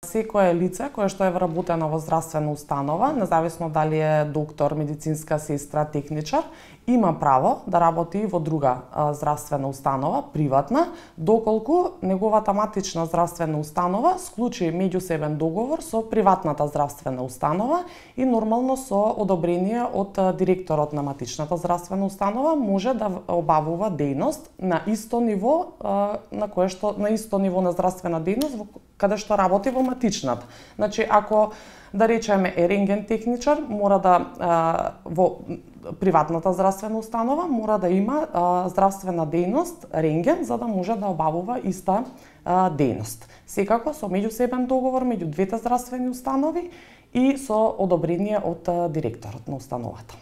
Секое лице кое што е вработено во здравствена установа, независно дали е доктор, медицинска сестра, техничар, има право да работи во друга здравствена установа, приватна, доколку неговата матична здравствена установа склучи меѓусебен договор со приватната здравствена установа и нормално со одобрение од директорот на матичната здравствена установа може да обавува дејност на исто ниво на исто ниво на здравствена дејност каде што работи во матичната. Значи, ако да речеме е рентген техничар, мора да во приватната здравствена установа мора да има здравствена дејност рентген за да може да обавува иста дејност. Секако со меѓусебен договор меѓу двете здравствени установи и со одобрение од директорот на установата.